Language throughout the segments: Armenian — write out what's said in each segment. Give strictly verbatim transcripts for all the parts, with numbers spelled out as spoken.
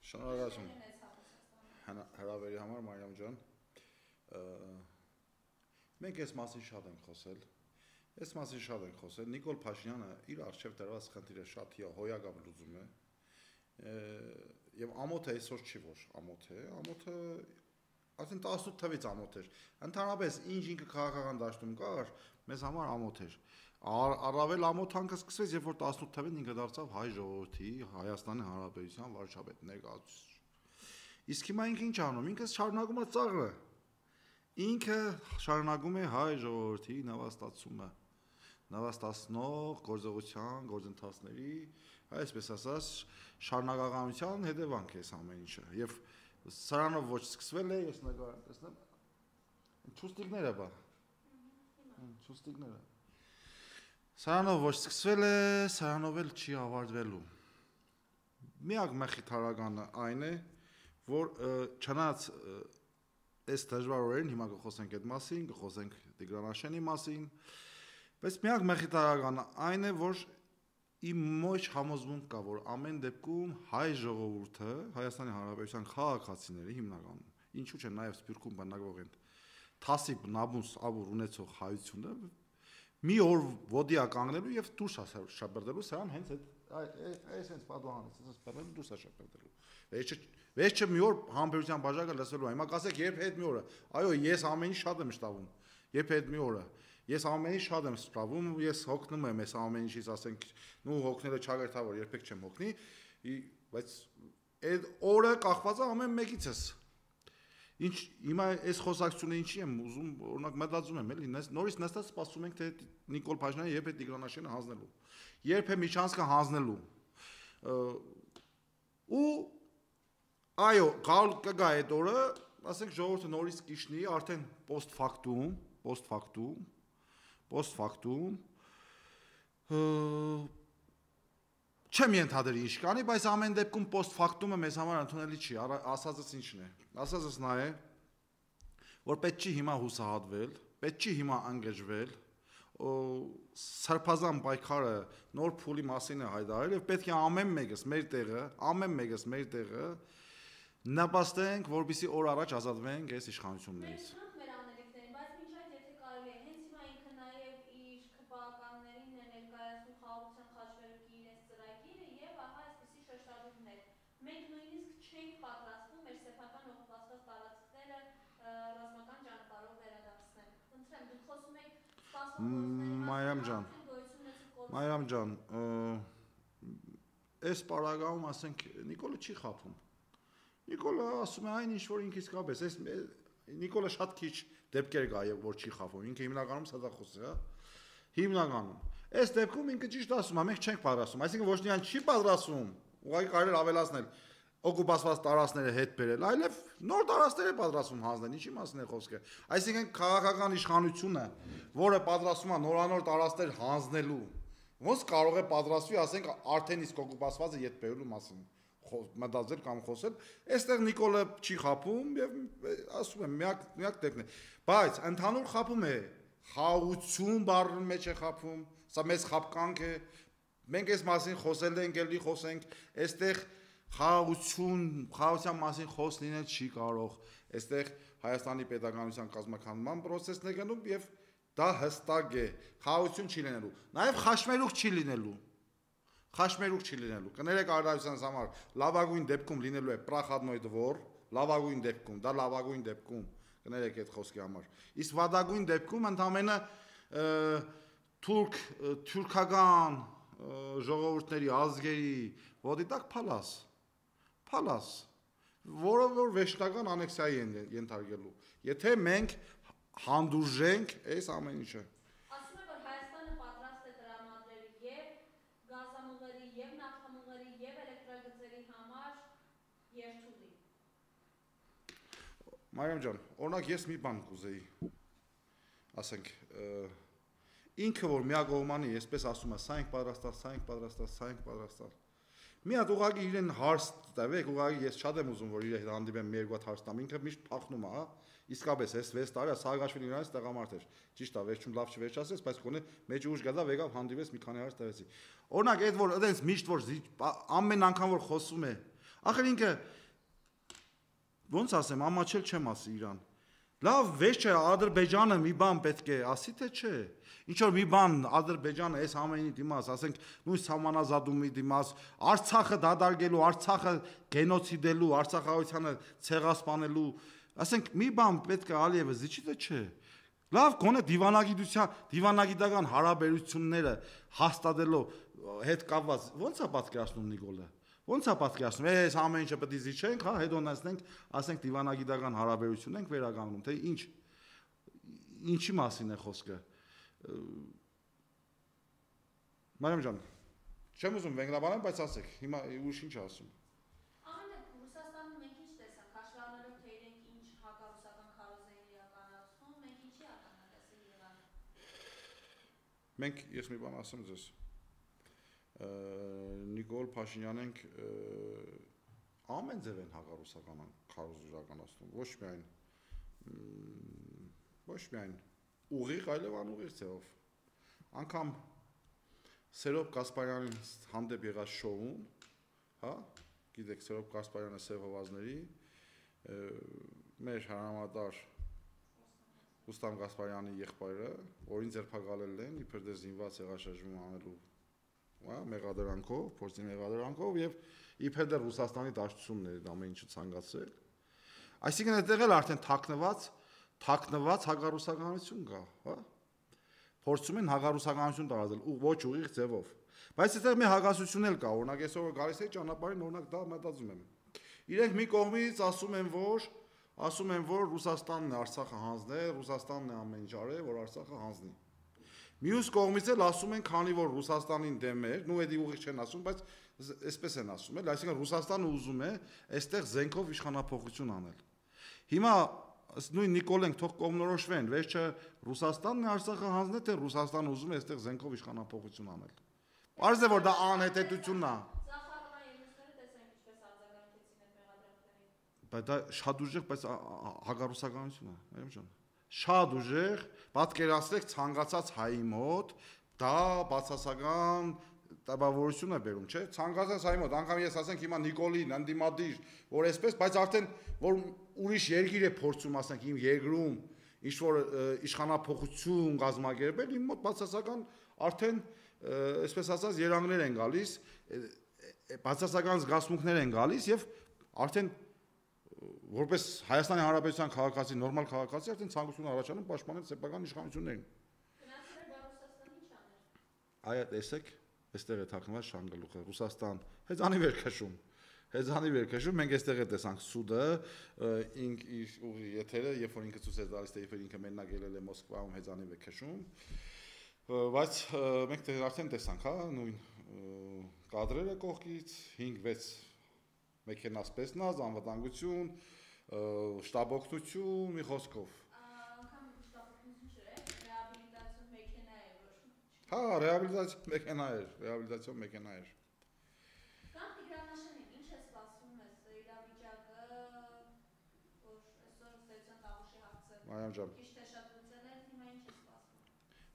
Շնորհակալություն հրավերի համար Մարիամ ջան։ Մենք այս մասին շատ ենք խոսել։ Այս մասին շատ ենք խոսել։ Նիկոլ Փաշինյանը իր արժև դրված խնդիրը շատ հոյակապ լուծում է։ Եվ ամոթը այսօր չի որ ամոթ է, ամոթը ասեն տասնութ թվից ամոթ էր։ Ընդհանրապես ինչ ինքը քաղաքական դաշտում կար, մեզ համար ամոթ էր։ Առավել ամոթանքը սկսվեց, երբ որ տասնութ թվին ինքը դարձավ հայ ժողովրդի, Հայաստանի Հանրապետության վարչապետ ներկայացուցիչ։ Իսկ հիմա ինքը ինչ անում, ինքը շարունակում է ծաղրը։ Ինքը շարունակում է հայ ժողովրդի նվաստացումը, նվաստացնող գործողության, գործընթացների, այսպես ասած, շարունակականության հետևանք է այս ամեն ինչը։ Եվ սրանով ոչ սկսվել է, ես նկարեմ, տեսնեմ, չուստիկները բա, չուստիկները։ Սրանով ոչ սկսվել է, սրանով էլ չի ավարտվելու։ Միակ մխիթարականը այն է, որ չնայած այս դժվար օրերին հիմա կխոսենք այդ մասին, կխոսենք Տիգրան մասին, բայց միակ մխիթարականը այն է, որ իմ ոչ համոզմունք կա, որ ամեն դեպքում հայ ժողովուրդը, Հայաստանի Հանրապետության քաղաքացիները հիմնականում, ինչու՞ չէ նաև Սփյուռքում բնակվող են թասիբ, նամուս, ավուր ունեցող հայությունը մի օր ոդիա կանգնելու եւ դուրս շաբերդելու սրան հենց այդ այս հենց պատահանից ասես բերել դուրս շաբերդելու վերջը վերջը մի օր համբերության բաժակը լսելու հիմա կասեք երբ հետ մի օրը այո ես ամեն ինչ շատ եմ շտավում երբ հետ մի օրը ես ամեն ինչ շատ եմ սպրավում ես հոգնում եմ այս ամեն ինչից ասենք նու հոգնելը չագերտավոր երբեք չեմ հոգնի բայց այդ օրը կախված է ամեն մեկիցս Ինչ հիմա այս խոսակցությունը ինչի եմ ուզում օրինակ մտածում եմ էլի նորից նստած սպասում ենք թե Նիկոլ Փաշինյանը երբ է Տիգրան հանձնելու երբ է Միչանսկը հանձնելու ու այո գալ կգա այդ օրը ասենք ժողովուրդը նորից կիշնի արդեն post factum post factum post factum Չեմ ենթադրի ինչ կանի, բայց ամեն դեպքում post factum-ը մեզ համար ընդունելի չի, ասածս ինչն է։ Ասածս նա է, որ պետք չի հիմա հուսահատվել, պետք չի հիմա անգժվել, սրբազան պայքարը նոր փուլի մասին է հայտարարել եւ պետք է ամեն մեկս մեր տեղը, ամեն մեկս մեր տեղը նպաստենք, որպեսզի օր առաջ ազատվենք այս իշխանություններից։ Մենք նույնիսկ չենք պատրաստվում մեր սեփական օկուպացված տարածքները ռազմական ճանապարհով վերադարձնել։ Խնդրեմ, դուք խոսում եք սպասողների Մարիամ ջան, Մարիամ ջան, այս պարագայում ասենք Նիկոլը չի խափում։ Նիկոլը ասում է այն ինչ որ ինքը իսկապես, այս Նիկոլը շատ քիչ դեպքեր կա եւ որ չի խափում։ Ինքը հիմնականում սադախոս է, հա։ Հիմնականում։ Այս դեպքում ինքը ճիշտ ասում է, մենք չենք պատրաստվում, այսինքն ոչ միայն չի պատրաստվում Ուղղակի կարելի ավելացնել օկուպացված տարածքները հետ բերել, այլև նոր տարածքներ է պատրաստվում հանձնել, ինչի մասին է խոսքը։ Այսինքն քաղաքական իշխանությունը, որը պատրաստվում է նորանոր տարածքներ հանձնելու, ոնց կարող է պատրաստվի, ասենք, արդեն իսկ օկուպացվածը հետ բերելու մասին մտածել կամ խոսել։ Այստեղ Նիկոլը չի խափում եւ ասում եմ, միակ միակ տեքն է։ Բայց ընդհանուր խափում է, խաղաղություն բառի մեջ է խափում, սա մեծ խափկանք է Մենք այս մասին խոսել ենք, ելի խոսենք, այստեղ խաղաղություն, խաղաղության մասին խոս լինել չի կարող, այստեղ Հայաստանի պետականության կազմաքանդման process-ն է գնում եւ դա հստակ է, խաղաղություն չի լինելու, նաեւ խաշմերուկ չի լինելու։ Խաշմերուկ չի լինելու։ Կներեք արդարությանս համար, լավագույն դեպքում լինելու է պրախադնոյ դվոր, լավագույն դեպքում, դա լավագույն դեպքում, կներեք այդ խոսքի համար։ Իսկ վատագույն դեպքում ընդհանրապես թուրք, թուրքական ժողովուրդների ազգերի ոտի տակ փալաս փալաս որը որ վերջնական անեքսիայի են ենթարկելու եթե մենք հանդուրժենք այս ամեն ինչը ասում է որ Հայաստանը պատրաստ է տրամադրել եւ գազամուղերի եւ նավթամուղերի եւ էլեկտրագծերի համար երթուղի Մարիամ ջան օրինակ ես մի բան կուզեի ասենք Ինքը որ միակողմանի, այսպես ասում է, սա ենք պատրաստալ, սա ենք պատրաստալ, սա ենք պատրաստալ։ Մի հատ ուղղակի իրեն հարց տվեք, ուղղակի ես շատ եմ ուզում, որ իր հետ հանդիպեմ մի երկու հատ հարց տամ, ինքը միշտ փախնում է, հա։ Իսկապես, այս վեց տարի Սաակաշվիլին իրանից տղամարդ էր։ Ճիշտ է, վերջում լավ չվերջացեց, բայց գոնե մեջ ուժ գա եկավ հանդիպեց մի քանի հարց տվեցի։ Օրինակ, այդ որ այդպես միշտ որ ամեն անգամ որ խոսում է, Ախր ինքը ոնց ասեմ, ամաչել չեմ ասի իրան։ Լավ, վեճ չէ, Ադրբեջանը մի բան պետք է ասի թե չէ։ Ինչ որ մի բան Ադրբեջանը այս ամենի դիմաց, ասենք նույն համանազատումի դիմաց, Արցախը դադարելու, Արցախը գենոցիդելու, Արցախահայությանը ցեղասպանելու, ասենք մի բան պետք է Ալիևը զիջի թե չէ։ Լավ, գոնե դիվանագիտության, դիվանագիտական հարաբերությունները հաստատելով հետ կապված, ո՞նց է պատկերացնում Նիկոլը։ Ոնց է պատկերացնում, այս ամեն ինչը պետք է զիջենք, հա, հետո նստենք, ասենք դիվանագիտական հարաբերություն ենք վերականգնում, թե ինչ ինչի մասին է խոսքը։ Մարիամ ջան, չեմ ուզում վենգլաբանեմ, բայց ասեք, հիմա ուշ ինչ ասում։ Ամեն դեպքում Ռուսաստանում մենք ինչ տեսանք, հաշվառելով թե իրենք ինչ հակառուսական քարոզեր իրականացնում, մենք ինչի ականատեսել եղանք։ Մենք ես մի բան ասեմ ձեզ։ Նիկոլ Փաշինյանենք ամեն ձև են հակառուսական քարոզ իրականացնում, ոչ միայն ոչ միայն ուղիղ, այլև անուղիղ ձևով։ Անգամ Սերոբ Կասպարյանին հանդեպ եղած շոուն, հա, գիտեք Սերոբ Կասպարյանը Սև հովազների մեր հարամատար Ռուստամ Գասպարյանի եղբայրը, որին ձերբակալել են, իբր դե զինված հեղաշրջում անելու մեղադրանքով, փորձի մեղադրանքով եւ իբր դեռ Ռուսաստանի դաշտությունն է ամեն ինչը ցանկացել։ Այսինքն այդտեղ էլ արդեն թաքնված, թաքնված հակառուսականություն կա, հա։ Փորձում են հակառուսականություն տարածել ու ոչ ուղիղ ձևով։ Բայց այդտեղ մի հակասություն էլ կա, օրինակ այսօր գալիս է ճանապարհին, օրինակ դա մտածում եմ։ Իրենք մի կողմից ասում են, որ ասում են, որ Ռուսաստանն է Արցախը հանձնել, Ռուսաստանն է ամեն ինչ արել, որ Արցախը հանձնի։ Մյուս կողմից էլ ասում են, քանի որ Ռուսաստանին դեմ էր, նու էդի ուղիղ չեն ասում, բայց այսպես են ասում, էլ, այսինքն Ռուսաստանը ուզում է այստեղ զենքով իշխանափոխություն անել։ Հիմա նույն Նիկոլենք թող կողմնորոշվեն, վերջը Ռուսաստանն է Արցախը հանձնել, թե Ռուսաստանը ուզում է այստեղ զենքով իշխանափոխություն անել։ Պարզ է, որ դա անհետեթությունն է։ Բայց դա շատ ուժեղ, բայց հակառուսականություն է, այո ջան։ Շատ ուժեղ, պատկերացրեք ցանկացած հայի մոտ, դա բացասական տպավորություն է բերում, չէ՞։ Ցանկացած հայի մոտ, անգամ ես ասենք հիմա Նիկոլին անդիմադիր, որ այսպես, բայց արդեն որ ուրիշ երկիր է փորձում, ասենք իմ երկրում ինչ որ իշխանափոխություն կազմակերպել, իմ մոտ բացասական արդեն այսպես ասած երանգներ են գալիս, բացասական զգացմունքներ են գալիս եւ արդեն որպես Հայաստանի Հանրապետության քաղաքացի, նորմալ քաղաքացի, արդեն ցանկություն առաջանում պաշտպանել սեփական իշխանություններին։ Գնացել է Ռուսաստանի ինչ աներ։ Այո, տեսեք, այստեղ է թաքնված շանգալուխը, Ռուսաստան, հեծանի վեր քշում։ Հեծանի վեր քշում, մենք այստեղ է տեսանք սուդը, ինք իր ուղի եթերը, երբ որ ինքը ցույց է տալիս, թե երբ ինքը մենակ ելել է Մոսկվայում հեծանի վեր քշում։ Բայց մենք արդեն տեսանք, հա, նույն կադրերը կողքից հինգ վեց մեքենասպես նազ, անվտանգություն, շտաբօգնություն, մի խոսքով։ Անգամ շտաբօգնություն չէ, ռեաբիլիտացիոն մեքենա է, որ։ Հա, ռեաբիլիտացիոն մեքենա էր, ռեաբիլիտացիոն մեքենա էր։ Կամ Տիգրանաշենիկ, ինչ է սպասվում ես իրավիճակը, որ այսօր ստեցան տաղուշի հարցը։ Մարիամ ջան։ Քիչ թե շատ լուծել են, հիմա ինչ է սպասվում։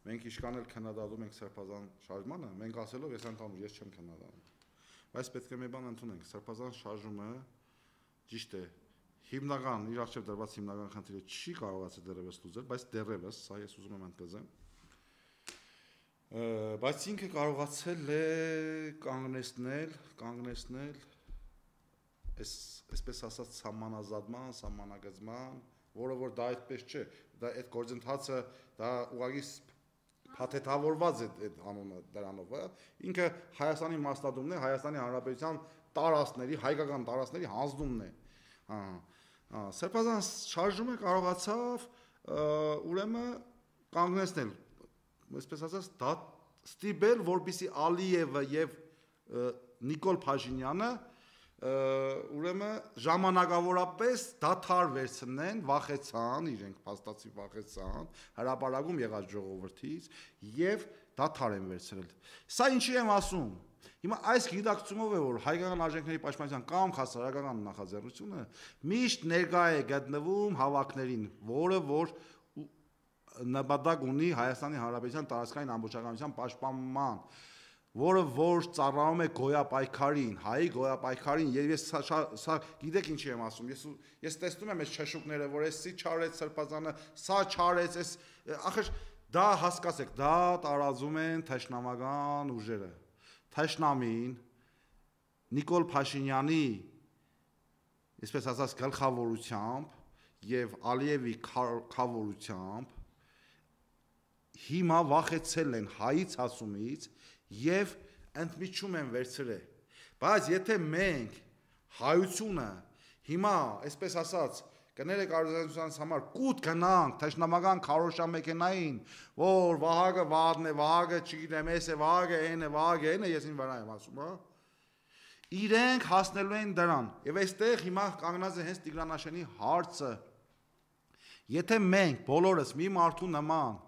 Մենք իշքան էլ քննադատում ենք Սրբազան շարժմանը, մենք ասելով ես ընդհանուր ես չեմ քննադատում։ Բայց պետք է մի բան ընդունենք, Սրբազան շարժումը ճիշտ է, հիմնական իր առջև դրված հիմնական խնդիրը չի կարողացել դեռևս լուծել, բայց դեռևս, սա ես ուզում եմ ընդգծեմ, բայց ինքը կարողացել է կանգնեցնել, կանգնեցնել այս այսպես ասած սահմանազատման, սահմանագծման, որը որ դա այդպես չէ, դա այդ գործընթացը դա ուղղակի փաթեթավորված է այդ անունը դրանով, ինքը Հայաստանի մասնատումն է, Հայաստանի Հանրապետության տարածքների, հայկական տարածքների հանձնումն է։ Հա, Սրբազան շարժումը կարողացավ ուրեմն կանգնեցնել, այսպես ասած, դա ստիպել, որպեսզի Ալիևը եւ Նիկոլ Փաշինյանը ուրեմն ժամանակավորապես դադար վերցնեն, վախեցան, իրենք փաստացի վախեցան, հրապարակում եղած ժողովրդից եւ դադար են վերցրել։ Սա ինչի եմ ասում։ Հիմա այս գիտակցումով է, որ հայկական արժեքների պաշտպանության կամ հասարակական նախաձեռնությունը միշտ ներկա է գտնվում հավաքներին, որը որ նպատակ ունի Հայաստանի Հանրապետության տարածքային ամբողջականության պաշտպանման, որը որ ծառայում է գոյապայքարին, հայի գոյապայքարին, եւ ես սա գիտեք ինչի եմ ասում, ես ես տեսնում եմ այս չշուկները, որ էսի չարեց Սրբազանը, սա չարեց, այս ախր դա հասկացեք, դա տարածում են թշնամական ուժերը։ Թշնամին Նիկոլ Փաշինյանի, այսպես ասած, գլխավորությամբ եւ Ալիևի քավորությամբ հիմա վախեցել են հայից ասումից եւ ընդմիջում են վերցրել։ Բայց եթե մենք հայությունը հիմա, այսպես ասած, կներեք արժանացության համար կուտ գնանք թշնամական քարոշամեքենային, որ Վահագը Վահագն է, Վահագը չգիտեմ, էս է, Վահագը այն է, Վահագը այն է, ես ին վրա եմ ասում, հա։ Իրենք հասնելու են դրան։ Եվ այստեղ հիմա կանգնած է հենց Տիգրան հարցը։ Եթե մենք բոլորս մի մարդու նման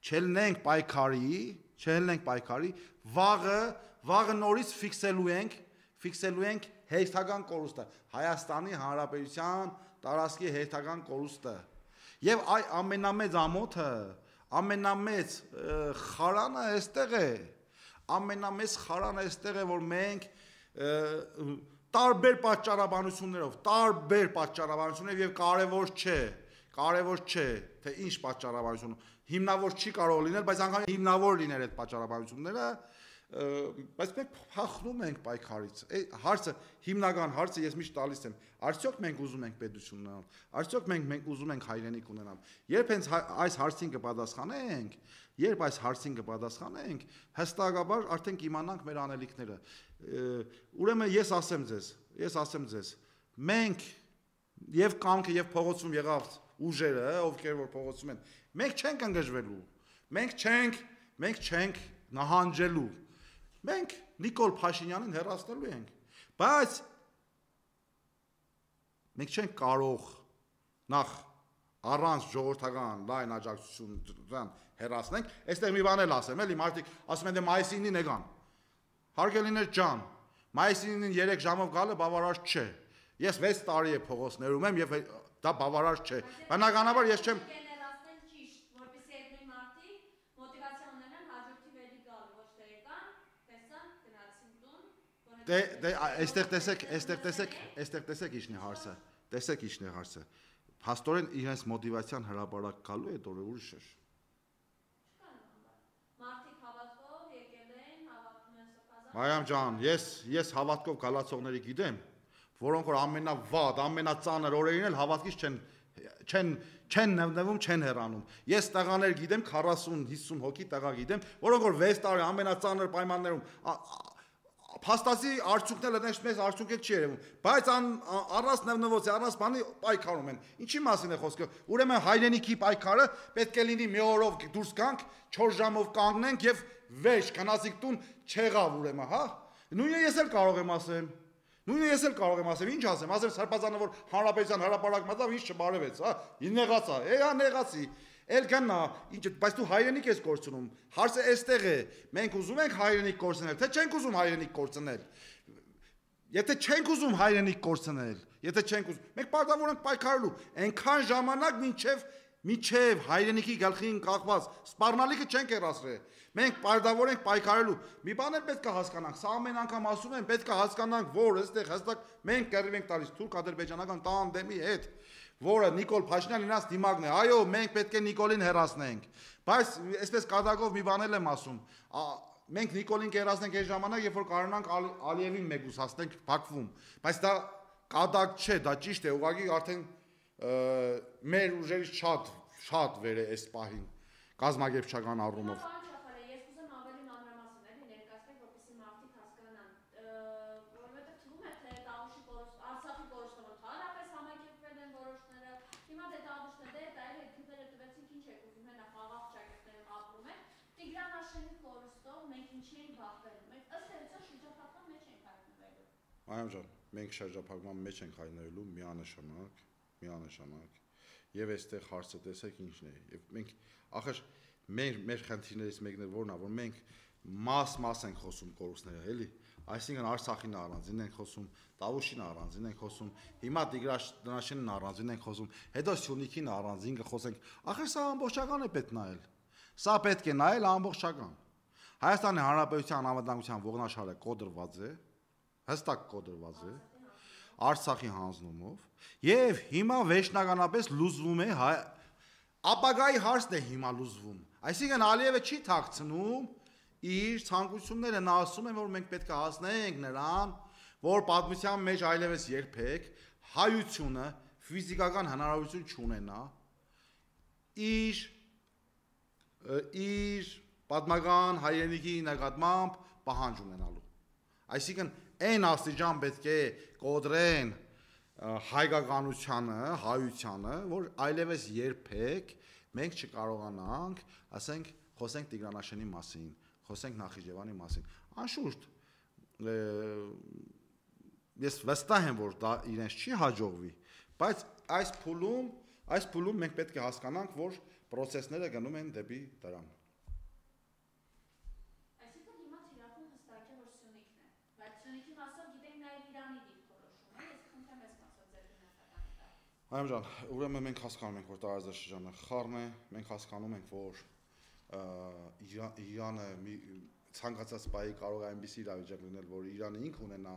չելնենք պայքարի, չելնենք պայքարի, վաղը, վաղը նորից ֆիքսելու ենք, ֆիքսելու ենք հերթական կորուստը, Հայաստանի Հանրապետության տարածքի հերթական կորուստը։ Եվ այ ամենամեծ ամոթը, ամենամեծ խարանը այստեղ է, ամենամեծ խարանը այստեղ է, որ մենք տարբեր պատճառաբանություններով, տարբեր պատճառաբանություններով եւ կարեւոր չէ, կարեւոր չէ, թե ինչ պատճառաբանություն, հիմնավոր չի կարող լինել, բայց անգամ հիմնավոր լինել այդ պատճառաբանությունները, բայց մենք փախնում ենք պայքարից։ Հարցը, հիմնական հարցը ես միշտ տալիս եմ, արդյոք մենք ուզում ենք պետություն ունենալ, արդյոք մենք մենք ուզում ենք հայրենիք ունենալ։ Երբ հենց այս հարցին կպատասխանենք, երբ այս հարցին կպատասխանենք, հստակաբար արդեն կիմանանք մեր անելիքները։ Ուրեմն ես ասեմ ձեզ, ես ասեմ ձեզ, մենք եւ կամքը եւ փողոցում եղավ ուժերը, ովքեր որ փողոցում են, մենք չենք ընկժվելու, մենք չենք, մենք չենք նահանջելու, մենք Նիկոլ Փաշինյանին հեռացնելու ենք, բայց մենք չենք կարող նախ առանց ժողովրդական լայն աջակցություն հեռացնենք, այստեղ մի բան էլ ասեմ, էլի մարդիկ ասում են դե մայիսի ինին եկան, հարգելիներ ջան, մայիսի ինին երեք ժամով գալը բավարար չէ, ես վեց տարի է փողոցներում եմ եւ դա բավարար չէ, բնականաբար ես չեմ Դե դե այստեղ տեսեք, այստեղ տեսեք, այստեղ տեսեք ինչն է հարցը։ Տեսեք ինչն է հարցը։ Փաստորեն իրենց մոտիվացիան հրաբարակ գալու է դուրը ուրիշ է։ Մարդիկ հավատքով եկել են, հավատում են Սրբազան։ Մարիամ ջան, ես ես հավատքով գալացողների գիտեմ, որոնք որ ամենավատ, ամենածանր օրերին էլ հավատքից չեն չեն չեն նվնվում, չեն հեռանում։ Ես տղաներ գիտեմ քառասուն հիսուն հոգի տղա գիտեմ, որոնք որ վեց տարի ամենածանր պայմաններում Փաստացի արդյունքները դες մեզ արդյունք չի երևում, բայց առանց նվնվոցի, առանց բանի պայքարում են։ Ինչի մասին է խոսքը։ Ուրեմն հայրենիքի պայքարը պետք է լինի մի օրով դուրս գանք, չորս ժամով կանգնենք եւ վեճ գնացիկ տուն չեղավ ուրեմն, հա։ Նույնը ես էլ կարող եմ ասեմ։ Նույնը ես էլ կարող եմ ասեմ, ինչ ասեմ, ասեմ Սրբազանը որ հանրապետության հրապարակ մտավ, ինչ չբարևեց, հա։ Ին նեղացա, էա նեղացի։ Էլ գնա, ինչ, բայց դու հայրենիք ես կորցնում։ Հարցը այստեղ է։ Մենք ուզում ենք հայրենիք կորցնել, թե չենք ուզում հայրենիք կորցնել։ Եթե չենք ուզում հայրենիք կորցնել, եթե չենք ուզում, մենք պարտավոր ենք պայքարելու։ Այնքան ժամանակ մինչև մինչև հայրենիքի գլխին կախված սպառնալիքը չենք հեռացրել։ Մենք պարտավոր ենք պայքարելու։ Մի բան էլ պետք է հասկանանք, սա ամեն անգամ ասում են, պետք է հասկանանք, որ այստեղ հստակ մենք կռիվ ենք տալիս թուրք-ադրբեջանական տանդեմի հետ, որը Նիկոլ Փաշինյանն իրաց դիմակն է։ Այո, մենք պետք է Նիկոլին հեռացնենք։ Բայց այսպես կատակով մի բան էլ եմ ասում։ Մենք Նիկոլին կհեռացնենք այս ժամանակ, երբ որ կարողանանք Ալիևին մեկուսացնենք Բաքվում։ Բայց դա կատակ չէ, դա ճիշտ է, ուղղակի արդեն մեր ուժերից շատ շատ վեր է այս պահին կազմակերպչական առումով։ Այո ջան, մենք շրջափակման մեջ ենք հայտնվելու միանշանակ, միանշանակ։ Եվ այստեղ հարցը տեսեք ինչն է։ Եվ մենք ախր մեր մեր խնդիրներից մեկն է որն է, որ մենք մաս-մաս ենք խոսում կորուստները, էլի։ Այսինքն Արցախին առանձին ենք խոսում, Տավուշին առանձին ենք խոսում, հիմա Տիգրաշենին առանձին ենք խոսում, հետո Սյունիքին առանձին կխոսենք։ Ախր սա ամբողջական է պետք նայել։ Սա պետք է նայել ամբողջական։ Հայաստանի Հանրապետության անվտանգության ողնաշարը կոդրված է, հստակ կոդրված է Արցախի հանձնումով եւ հիմա վերջնականապես լուզվում է հայ ապագայի հարցն է հիմա լուզվում։ Այսինքն Ալիևը չի թաքցնում իր ցանկությունները, նա ասում է, որ մենք պետք է հասնենք նրան, որ պատմության մեջ այլևս երբեք հայությունը ֆիզիկական հնարավորություն չունենա իր իր պատմական հայրենիքի նկատմամբ պահանջ ունենալու։ Այսինքն այն աստիճան պետք է կոդրեն հայկականությանը, հայությանը, որ այլևս երբեք մենք չկարողանանք, ասենք, խոսենք Տիգրանաշենի մասին, խոսենք Նախիջևանի մասին։ Անշուշտ ես վստահ եմ, որ դա իրենց չի հաջողվի, բայց այս փուլում, այս փուլում մենք պետք է հասկանանք, որ process-ները գնում են դեպի դրան։ Այսինքն հիմա թիրախում հստակ է, որ Սյունիքն է, բայց Սյունիքի մասով գիտենք նաև Իրանի դիրքորոշումը, ես խնդրեմ ես մասով ձեր գնահատականը տալ։ Այո ջան, ուրեմն մենք հասկանում ենք, որ տարածաշրջանը խառն է, մենք հասկանում ենք, որ Իրանը ցանկացած բայի կարող է այնպիսի իրավիճակ լինել, որ Իրանը ինքը ունենա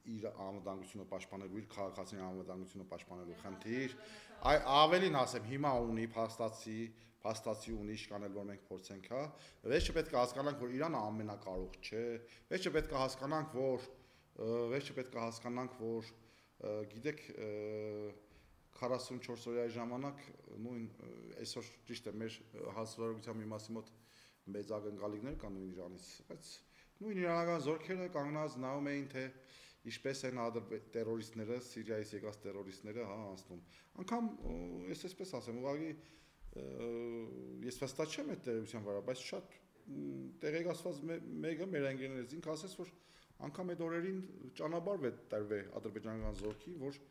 իր անվտանգությունը պաշտպանելու, իր քաղաքացիների անվտանգությունը պաշտպանելու խնդիր, այ ավելին ասեմ, հիմա ունի փաստացի, փաստացի ունի իշկանել, որ մենք փորձենք, հա, վերջը պետք է հասկանանք, որ Իրանը ամենակարող չէ, վերջը պետք է հասկանանք, որ վերջը պետք է հասկանանք, որ գիտեք քառասունչորս օրյայի ժամանակ նույն այսօր ճիշտ է մեր հասարակության մի մասի մոտ մեծ ակնկալիքներ կան նույն Իրանից, բայց նույն իրանական զորքերը կանգնած նայում էին, թե ինչպես են տերորիստները, Սիրիայից եկած տերորիստները, հա, անցնում։ Անկամ ես այսպես ասեմ, ուղղակի ես վստահ չեմ այդ տերության վրա, բայց շատ տեղեկացված մեկը մեր ընկերներից ինքը ասեց, որ անգամ այդ օրերին ճանապարհ է տրվե ադրբեջանական զորքի, որ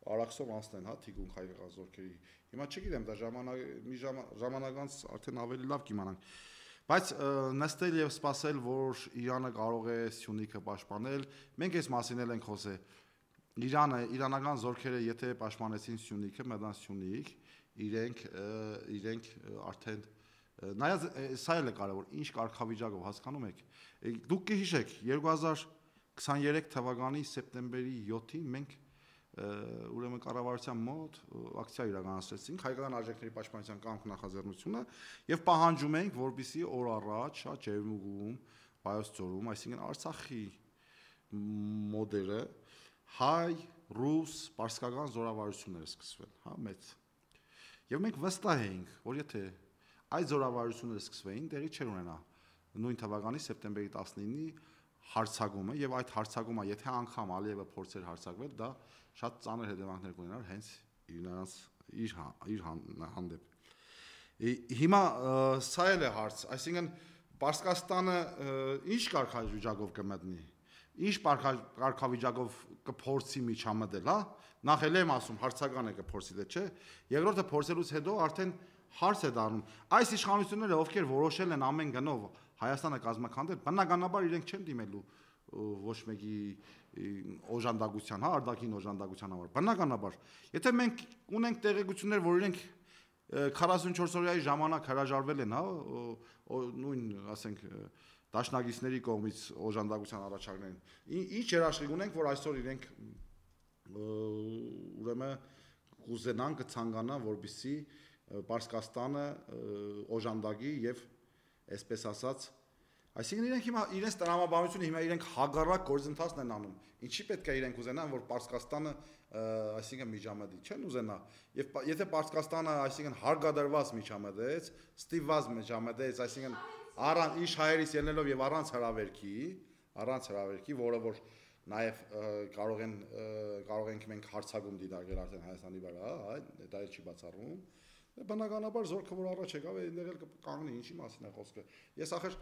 Արաքսով անցնեն, հա, թիկունք հայկական զորքերի։ Հիմա չգիտեմ, դա ժամանակ մի ժամանակ անց արդեն ավելի լավ կիմանանք։ Բայց նստել եւ սպասել, որ Իրանը կարող է Սյունիքը պաշտպանել, մենք այս մասին էլ ենք խոսել։ Իրանը, իրանական զորքերը եթե պաշտպանեցին Սյունիքը, մետան Սյունիք, իրենք իրենք արդեն նայած սա էլ է կարևոր, ինչ կարգավիճակով հասկանում եք։ Դուք կհիշեք երկու հազար քսաներեք թվականի սեպտեմբերի յոթին մենք ուրեմն կառավարության մոտ ակցիա իրականացրեցինք հայկական արժեքների պաշտպանության կամք նախաձեռնությունը եւ պահանջում ենք, որպեսզի օր առաջ հա Ջերմուգում, Վայոց ձորում, այսինքն Արցախի մոդելը հայ, ռուս, պարսկական զորավարություններ սկսվել, հա մեծ։ Եվ մենք վստահ էինք, որ եթե այդ զորավարությունները սկսվեին, տեղի չէր ունենա նույն թվականի սեպտեմբերի տասնինի հարցակումը եւ այդ հարցակումը, եթե անգամ Ալիևը փորձեր հարցակվել, դա շատ ծանր հետևանքներ կունենար հենց իրենց իր իր հանդեպ։ Հիմա սա էլ է հարց, այսինքն Պարսկաստանը ինչ կարգավիճակով կմտնի, ինչ կարգավիճակով կփորձի միջամտել, հա։ Նախ էլ եմ ասում, հարցական է կփորձի, թե չէ։ Երկրորդը փորձելուց հետո արդեն հարց է դառնում։ Այս իշխանությունները, ովքեր որոշել են ամեն գնով Հայաստանը կազմակերպել, բնականաբար իրենք չեն դիմելու ոչ մեկի օժանդակության, հա, արտաքին օժանդակության համար։ Բնականաբար, եթե մենք ունենք տեղեկություններ, որ իրենք քառասունչորս օրյայի ժամանակ հրաժարվել են, հա, նույն, ասենք, դաշնակիցների կողմից օժանդակության առաջարկներին, ինչ երաշխիք ունենք, որ այսօր իրենք ուրեմն կուզենան, կցանկանան, որպեսզի Պարսկաստանը օժանդակի եւ այսպես ասած, այսինքն իրենք հիմա իրենց տրամաբանությունը հիմա իրենք հագարակ գործընթացն են անում։ Ինչի պետք է իրենք ուզենան, որ Պարսկաստանը, այսինքն միջամտի, չեն ուզենա։ Եվ եթե Պարսկաստանը, այսինքն հարգադրված միջամտեց, ստիպված միջամտեց, այսինքն առանց իշ հայերից ելնելով եւ առանց հրավերքի, առանց հրավերքի, որը որ նաեւ կարող են կարող ենք մենք հարցակում դիտարկել արդեն Հայաստանի վրա, հա, դա էլ չի բացառվում։ Բնականաբար զորքը որ առաջ եկավ, այնտեղ էլ կկանգնի, ինչի մասին է խոսքը։ Ես ախր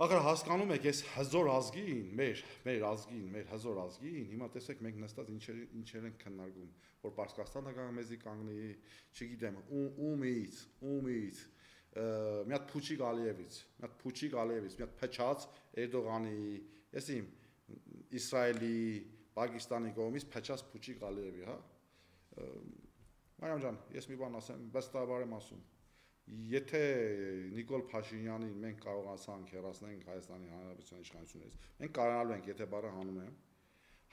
ախր հասկանում եք, ես հզոր ազգին, մեր մեր ազգին, մեր հզոր ազգին, հիմա տեսեք մենք նստած ինչեր ինչեր են քննարկում, որ Պարսկաստանը կա մեզի կանգնի, չգիտեմ, ումից, ումից, մի հատ Փուչիկ Ալիևից, մի հատ Փուչիկ Ալիևից, մի հատ փչած Էրդողանի, ես իմ Իսրայելի, Պակիստանի կողմից փչած Փուչիկ Ալիևի, հա։ Մարիամ ջան, ես մի բան ասեմ, վստահաբար եմ ասում։ եթե Նիկոլ Փաշինյանին մենք կարողացանք հեռացնենք Հայաստանի Հանրապետության իշխանություններից, մենք կարողանալու ենք, եթե բառը հանում եմ,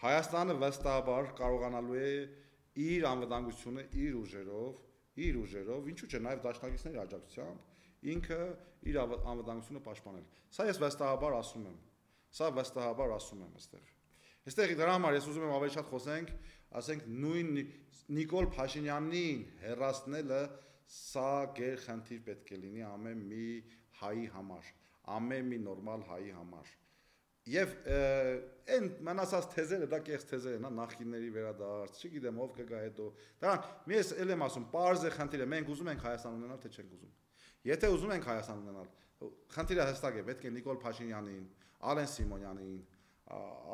Հայաստանը վստահաբար կարողանալու է իր անվտանգությունը իր ուժերով, իր ուժերով, ինչու՞ չէ, նաև դաշնակիցների աջակցությամբ ինքը իր անվտանգությունը պաշտպանել։ Սա ես վստահաբար ասում եմ։ Սա վստահաբար ասում եմ այստեղ։ Այստեղ դրա համար ես ուզում եմ ավելի շատ խոսենք, ասենք նույն Նիկոլ Փաշինյանին հեռացնելը սա գերխնդիր պետք է լինի ամեն մի հայի համար, ամեն մի նորմալ հայի համար։ Եվ այն մնացած թեզերը, դա կեղծ թեզեր են, նախկինների վերադարձ, չգիտեմ ով կգա հետո։ Դրանք մի ես էլ եմ ասում, պարզ է խնդիրը, մենք ուզում ենք Հայաստան ունենալ, թե չենք ուզում։ Եթե ուզում ենք Հայաստան ունենալ, խնդիրը հստակ է, պետք է Նիկոլ Փաշինյանին, Ալեն Սիմոնյանին,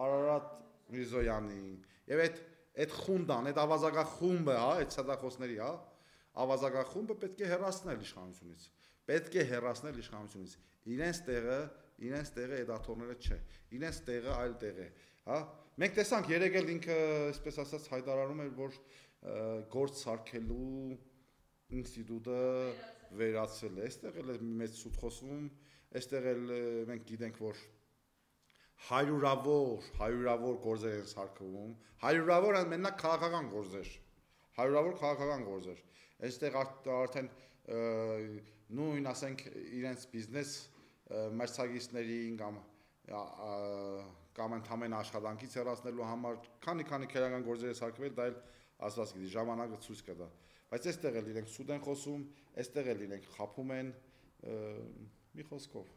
Արարատ Միրզոյանին եւ այդ այդ խունդան, այդ ավազակախումբը, հա, այդ ցածախոսների, հա, ավազակախումբը պետք է հեռացնել իշխանությունից։ Պետք է հեռացնել իշխանությունից։ Իրենց տեղը, իրենց տեղը այդ աթոռները չէ։ Իրենց տեղը այլ տեղ է, հա։ Մենք տեսանք երեք էլ ինքը, այսպես ասած, հայտարարում էր, որ գործ սարքելու ինստիտուտը վերացել է։ Այստեղ էլ մեծ սուտ խոսում, այստեղ էլ մենք գիտենք, որ հարյուրավոր, հարյուրավոր գործեր են սարքվում, հարյուրավոր մենակ քաղաքական գործեր, հարյուրավոր քաղաքական գործեր։ Այստեղ արդեն նույն, ասենք, իրենց բիզնես մրցակիցներին կամ կամ ընդհանրեն աշխատանքից հեռացնելու համար քանի-քանի քերական գործեր է սարքվել, դա էլ ասված գիտի, ժամանակը ցույց կտա։ Բայց այստեղ էլ իրենք սուտ են խոսում, այստեղ էլ իրենք խափում են մի խոսքով։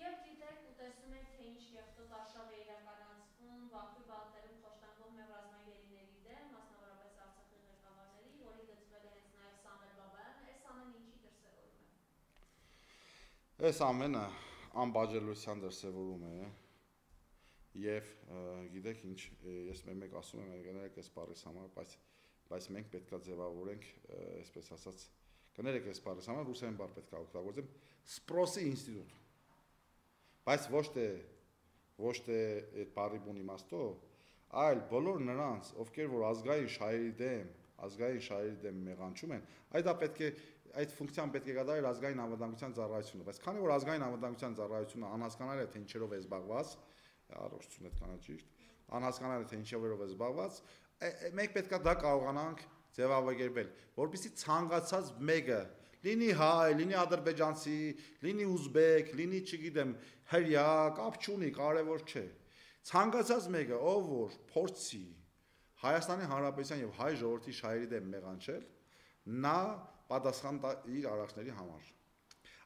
Եվ դիտեք ու տեսնում եք, թե ինչ կեղտոտ արշավ է իրականացվում Բաքվի բալտերում խոշտանգող մեր ռազմագերիների դեմ, մասնավորապես Արցախի ղեկավարների, որին գծվել է հենց նաև Սամվել Բաբայանը, այս ամենը ինչի դրսևորում է։ Այս ամենը անբաժանելիության դրսևորում է եւ գիտեք ինչ, ես մեկ ասում եմ, կներեք այս բառից համար, բայց բայց մենք պետքա ձևավորենք, այսպես ասած, կներեք այս բառից համար, ռուսերեն բառ պետքա օգտագործեմ, սպրոսի ինստիտուտ։ Բայց ոչ թե ոչ թե այդ բառի բուն իմաստով, այլ բոլոր նրանց, ովքեր որ ազգային շահերի դեմ, ազգային շահերի դեմ մեղանչում են, այդ դա պետք է այդ ֆունկցիան պետք է կատարել ազգային անվտանգության ծառայությունը, բայց քանի որ ազգային անվտանգության ծառայությունը անհասկանալ է թե ինչերով է զբաղված, առողջություն այդ կանա ճիշտ, անհասկանալ է թե ինչերով է զբաղված, մենք պետք է դա կարողանանք ձևավորել, որպեսզի ցանկացած մեկը լինի հայ, լինի ադրբեջանցի, լինի ուզբեկ, լինի, չգիտեմ, հրյա, կապ չունի, կարևոր չէ։ Ցանկացած մեկը, ով որ փորձի Հայաստանի Հանրապետության եւ հայ ժողովրդի շահերի դեմ մեղանչել, նա պատասխան տա իր արարածների համար։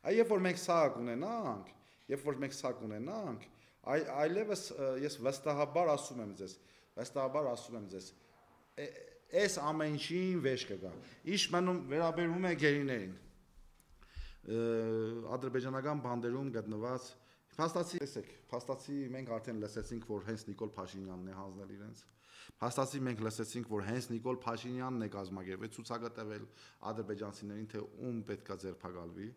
Այ երբ որ մենք սա կունենանք, երբ որ մենք սա կունենանք, այլևս ես վստահաբար ասում եմ ձեզ, վստահաբար ասում եմ ձեզ, այս ամեն ինչին վեճ կգա։ Ինչ մնում վերաբերում է գերիներին։ Ադրբեջանական բանդերում գտնված փաստացի, տեսեք, փաստացի մենք արդեն լսեցինք, որ հենց Նիկոլ Փաշինյանն է հանձնել իրենց։ Փաստացի մենք լսեցինք, որ հենց Նիկոլ Փաշինյանն է կազմակերպել ցուցակը տվել ադրբեջանցիներին, թե ում պետքա ձերբակալվի,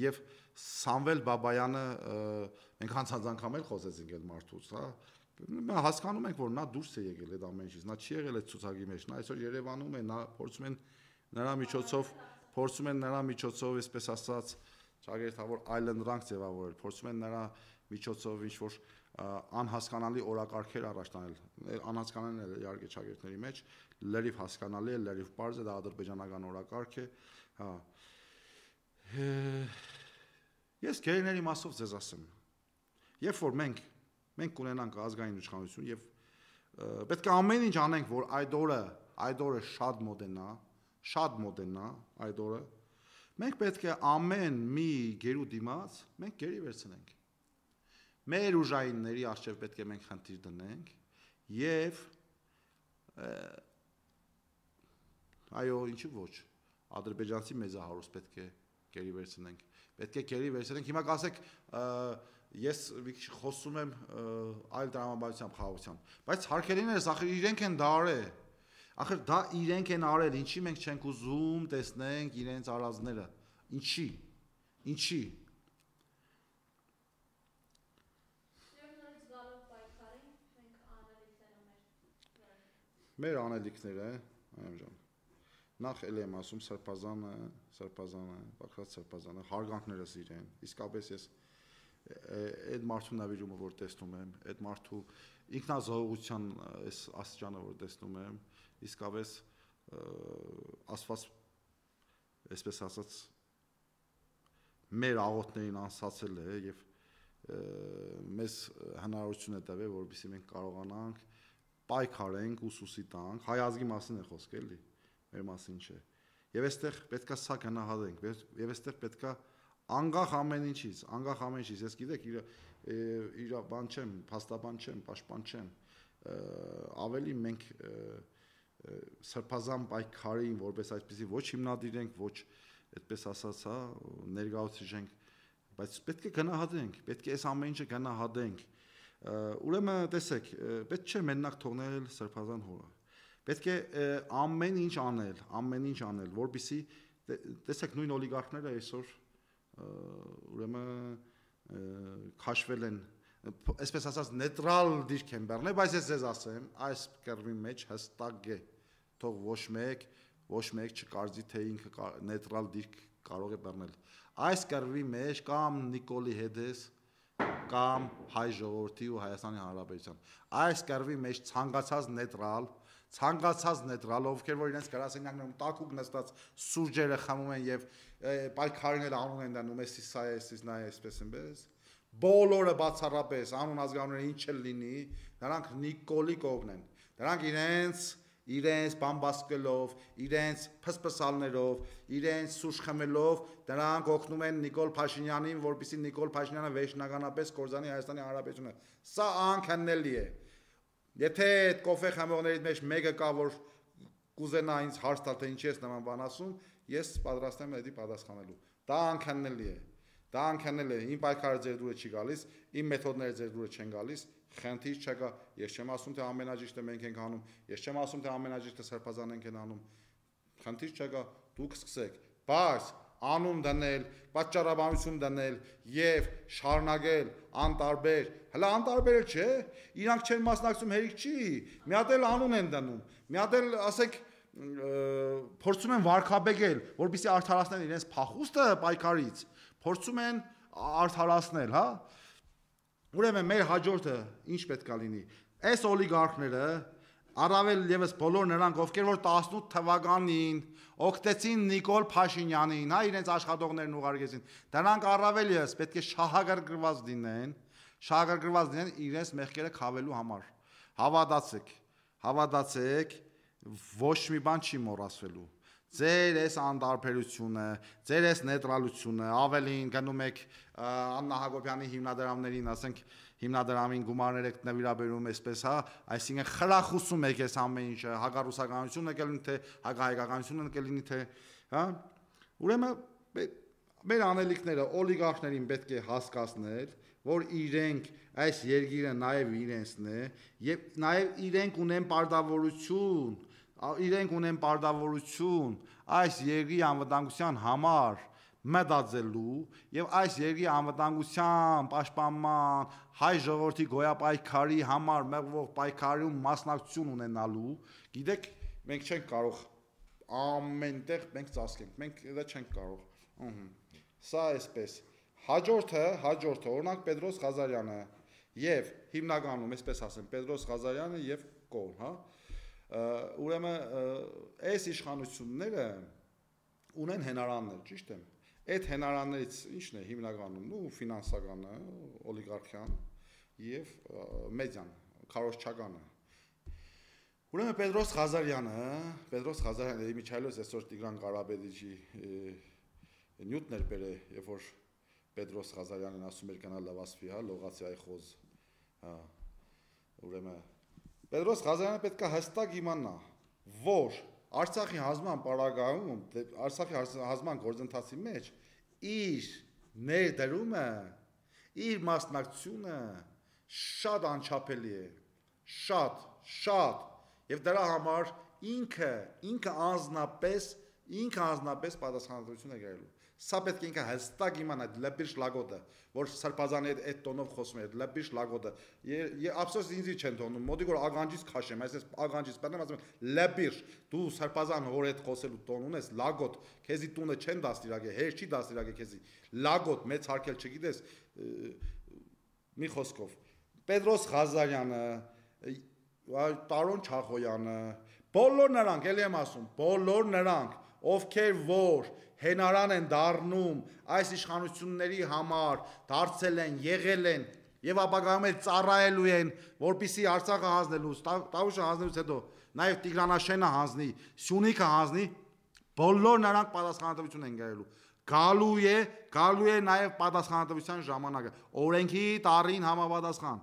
եւ Սամվել Բաբայանը մենք հանցած անգամ էլ խոսեցինք այդ մարդուց, հա։ Մենք հասկանում ենք, որ նա դուրս է եկել այդ ամեն ինչից, նա չի եղել այդ ցուցակի մեջ, նա այսօր Երևանում է, նա փորձում են նրա միջոցով, փորձում են նրա միջոցով, այսպես ասած, ճագերտավոր այլընտրանք ձևավորել, փորձում են նրա միջոցով ինչ որ անհասկանալի օրակարգեր առաջ տանել, անհասկանալի է իհարկե ճագերտների մեջ, լրիվ հասկանալի է, լրիվ պարզ է, դա ադրբեջանական օրակարգ է, հա։ Ես գերիների մասով ձեզ ասեմ, երբ որ մենք մենք կունենանք ազգային իշխանություն եւ պետք է ամեն ինչ անենք, որ այդ օրը, այդ օրը շատ մոդենա, շատ մոդենա այդ օրը, մենք պետք է ամեն մի գերու դիմաց մենք գերի վերցնենք։ Մեր ուժայինների առջև պետք է մենք խնդիր դնենք եւ այո, ինչու ոչ, ադրբեջանցի մեծահարուստ պետք է գերի վերցնենք։ Պետք է գերի վերցնենք։ Հիմա կասեք, ես խոսում եմ այլ տրամաբանությամբ խաղաղությամբ, բայց հարկերիներս ախր իրենք են դա արել, ախր դա իրենք են արել, ինչի մենք չենք ուզում տեսնենք իրենց արածները, ինչի, ինչի։ Մեր անելիքները, այամ ջան, նախ էլ եմ ասում Սրբազանը, Սրբազանը, Բագրատ Սրբազանը հարգանքներս իրեն։ Իսկապես ես այդ մարդու նվիրումը որ տեսնում եմ, այդ մարդու ինքնազոհության այս աստիճանը որ տեսնում եմ, իսկապես Աստված այսպես ասած մեր աղոթներին անսացել է եւ մեզ հնարավորություն է տվել, որովհետեւ մենք կարողանանք պայքարենք, ուսուսի տանք, հայ ազգի մասին է խոսքը էլի, մեր մասին չէ։ Եվ այստեղ պետքա սա գնահատենք, եւ այստեղ պետքա անկախ ամեն ինչից, անկախ ամեն ինչից, ես գիտեք իր իր բան չեմ, փաստաբան չեմ, պաշտպան չեմ, ավելի մենք սրբազան պայքարին որպես այսպեսի ոչ հիմնադիրենք, ոչ այդպես ասած, հա, ներկայացնենք, բայց պետք է գնահատենք, պետք է այս ամեն ինչը գնահատենք։ Ուրեմն տեսեք, պետք չէ մենակ թողնել սրբազան հորը։ Պետք է ամեն ինչ անել, ամեն ինչ անել, որպեսզի տեսեք նույն օլիգարխները այսօր ուրեմն քաշվել են, այսպես ասած նեյտրալ դիրք են բերնել, բայց ես ձեզ ասեմ, այս կերվի մեջ հստակ է, թող ոչ մեկ, ոչ մեկ չկարծի, թե ինքը նեյտրալ դիրք կարող է բերնել։ Այս կերվի մեջ կամ Նիկոլի Հետես, կամ հայ ժողովրդի ու Հայաստանի Հանրապետության։ Այս կերվի մեջ ցանկացած նեյտրալ, ցանկացած նեյտրալ, ովքեր որ իրենց գրասենյակներում տակուկ նստած սուրճերը խմում են եւ պայքարին անուն են դնում, էսի սա է, էսի նա է, այսպես այնպես, բոլորը բացառապես անուն ազգանունները ինչ էլ լինի, նրանք Նիկոլի կողմն են։ Նրանք իրենց իրենց բամբասկելով, իրենց փսփսալներով, իրենց սուրճ խմելով, նրանք օգնում են Նիկոլ Փաշինյանին, որպեսզի Նիկոլ Փաշինյանը վերջնականապես կորզանի Հայաստանի Հանրապետությունը։ Սա անքննելի է։ Եթե այդ կոֆե խմողներից մեջ մեկը կա, որ կուզենա ինձ հարց տալ, թե ինչի ես նման բան ասում, ես պատրաստ եմ դա պատասխանելու։ Դա անքննելի է։ Դա անքննելի է։ Իմ պայքարը ձեր դուրը չի գալիս, իմ մեթոդները ձեր դուրը չեն գալիս։ Խնդիր չկա, ես չեմ ասում թե ամենաջիշտը մենք ենք անում, ես չեմ ասում թե ամենաջիշտը Սրբազան ենք անում։ Խնդիր չկա, դուք սկսեք, բայց անուն դնել, պատճառաբանություն դնել եւ շարունակել անտարբեր, հələ անտարբերը չէ, իրանք չեն մասնակցում հերիք չի, մի հատ էլ անուն են դնում, մի հատ էլ ասեք փորձում են վարկաբեկել, որպեսզի արդարացնեն իրենց փախուստը պայքարից, փորձում են արդարացնել, հա։ Ուրեմն մեր հաջորդը ինչ պետք է լինի։ Այս օլիգարխները, առավել եւս բոլոր նրանք, ովքեր որ տասնութ թվականին օգտեցին Նիկոլ Փաշինյանին, հա, իրենց աշխատողներն ուղարկեցին, դրանք առավել եւս պետք է շահագրգռված լինեն, շահագրգռված լինեն իրենց մեղքերը քավելու համար։ Հավատացեք, հավատացեք, ոչ մի բան չի մոռացվելու։ Ձեր այս անտարբերությունը, ձեր այս նեյտրալությունը, ավելին գնում եք Աննա Հակոբյանի հիմնադրամներին, ասենք հիմնադրամին գումարներ եք նվիրաբերում այսպես, հա, այսինքն խրախուսում եք այս ամեն ինչը, հակառուսականությունը կլինի թե հակահայկականությունը կլինի թե, հա։ Ուրեմն մեր անելիքները օլիգարխներին պետք է հասկացնել, որ իրենք այս երկիրը նաև իրենցն է եւ նաև իրենք ունեն պարտավորություն, իրենք ունեն պարտավորություն այս երկրի անվտանգության համար մտածելու եւ այս երկրի անվտանգության պաշտպանման հայ ժողովրդի գոյապայքարի համար մեղվող պայքարում մասնակցություն ունենալու, գիտեք, մենք չենք կարող ամենտեղ մենք ծածկենք, մենք դա չենք կարող։ Ահա։ Սա այսպես։ Հաջորդը, հաջորդը, օրինակ Պետրոս Ղազարյանը եւ հիմնականում, այսպես ասեմ, Պետրոս Ղազարյանը եւ Կոլ, հա։ Ուրեմն այս իշխանությունները ունեն հենարաններ, ճիշտ է։ Այդ հենարաններից ի՞նչն է հիմնականում, ու ֆինանսականը, օլիգարխիան եւ մեդիան, քարոզչականը։ Ուրեմն Պետրոս Ղազարյանը, Պետրոս Ղազարյանը Միչայելոս այսօր Տիգրան Ղարաբեդիչի նյութներ բերե, երբ որ Պետրոս Ղազարյանն ասում էր գնալ լավասվի, հա, լողացիայի խոզ, հա։ Ուրեմն Պետրոս Ղազարյանը պետք է հստակ իմանա, որ Արցախի հազման պարագայում, Արցախի հազման գործընթացի մեջ իր ներդրումը, իր մասնակցությունը շատ անչափելի է, շատ, շատ, եւ դրա համար ինքը, ինքը անձնապես, ինքը անձնապես պատասխանատվություն է կրելու։ Սա պետք է ինքը հստակ իմանա լեբիշ լագոդը, որ սրբազանի հետ այդ տոնով խոսում է, լեբիշ լագոդը։ Ափսոս ինձի չեն թողնում, մոտիկ որ ագանջից քաշեմ, այսպես ագանջից բերեմ, ասում են լեբիշ, դու սրբազան հոր հետ խոսելու տոն ունես, լագոդ, քեզի տունը չեն դաստիարակե, հեր չի դաստիարակե քեզի։ Լագոդ մեծ հարկել չգիտես, մի խոսքով։ Պետրոս Ղազարյանը, Տարոն Չախոյանը, բոլոր նրանք, էլի եմ ասում, բոլոր նրանք, ովքեր որ հենարան են դառնում այս իշխանությունների համար, դարձել են, եղել են եւ ապագայում էլ ծառայելու են, որպիսի Արցախը հանձնելուց, Տավուշը հանձնելուց հետո նաեւ Տիգրանաշենը հանձնի, Սյունիքը հանձնի, բոլոր նրանք պատասխանատվություն են գերելու։ Գալու է, գալու է նաեւ պատասխանատվության ժամանակը։ Օրենքի տարին համապատասխան,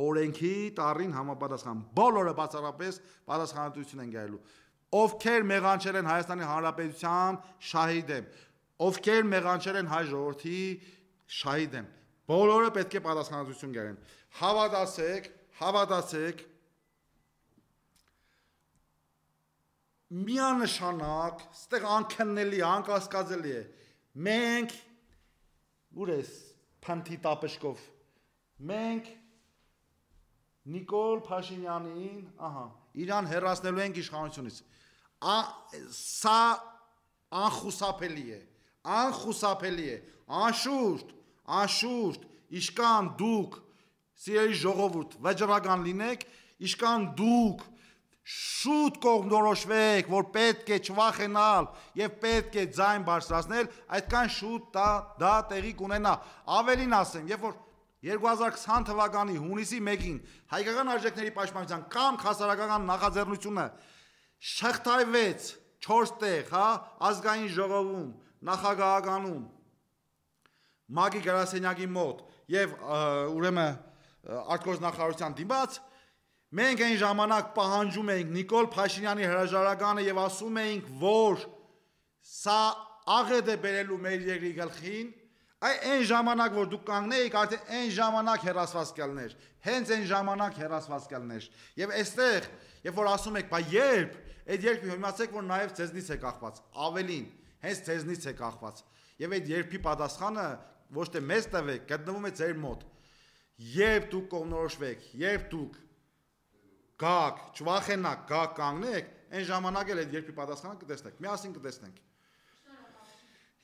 օրենքի տարին համապատասխան, բոլորը բացառապես պատասխանատվություն են գերելու։ Ովքեր մեղանչել են Հայաստանի Հանրապետության շահիդ եմ, ովքեր մեղանչել են հայ ժողովրդի շահիդ եմ, բոլորը պետք է պատասխանատվություն կերեն։ Հավատացեք, հավատացեք, միանշանակ, ստեղ անքննելի, անկասկածելի է, մենք, ուր ես փանթի տապշկով, մենք Նիկոլ Փաշինյանին, ահա, իրան հեռացնելու ենք իշխանությունից։ Սա անխուսափելի է, անխուսափելի է, անշուշտ, անշուշտ, իշքան դուք, սիրելի ժողովուրդ, վճռական լինեք, իշքան դուք շուտ կողմնորոշվեք, որ պետք է չվախենալ եւ պետք է ձայն բարձրացնել, այդքան շուտ դա, դա տեղի կունենա։ Ավելին ասեմ, երբ որ երկու հազար քսան թվականի հունիսի մեկին հայկական արժեքների պաշտպանության կամ հասարակական նախաձեռնությունը շղթայվեց չորս տեղ, հա, ազգային ժողովում, նախագահականում, Մագի Գրասենյակի մոտ եւ ուրեմն արտգործնախարարության դիմաց, մենք այն ժամանակ պահանջում էինք Նիկոլ Փաշինյանի հրաժարականը եւ ասում էինք, որ սա աղետ է բերելու մեր երկրի գլխին, այն ժամանակ որ դուք կանգնեիք, արդեն այն ժամանակ հերասված կլներ, հենց այն ժամանակ հերասված կլներ։ Եվ այստեղ, երբ որ ասում եք, բա երբ, այդ երբ իմացեք, որ նաեւ ձեզնից է կախված, ավելին, հենց ձեզնից է կախված։ Եվ այդ երբի պատասխանը ոչ թե մեզ տվեք, գտնվում է ձեր մոտ։ Երբ դուք կողմնորոշվեք, երբ դուք գաք, չվախենաք, գաք կանգնեք, այն ժամանակ էլ այդ երբի պատասխանը կտեսնեք, միասին կտեսնենք։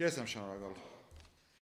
Ես եմ շնորհակալ։